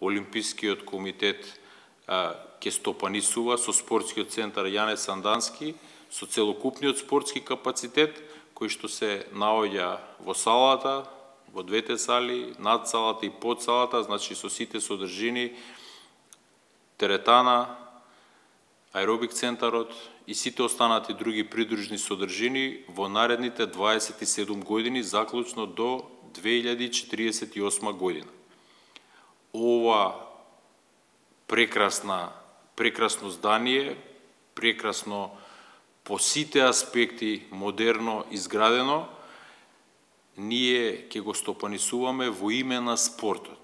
Олимпискиот комитет ќе стопанисува со спортскиот центар Јане Сандански, со целокупниот спортски капацитет, кој што се наоѓа во салата, во двете сали, над салата и под салата, значи со сите содржини, теретана, аеробик центарот и сите останати други придружни содржини во наредните 27 години, заклучно до 2048 година. Ова прекрасно здание, прекрасно по сите аспекти модерно изградено, ние ќе го стопанисуваме во име на спортот.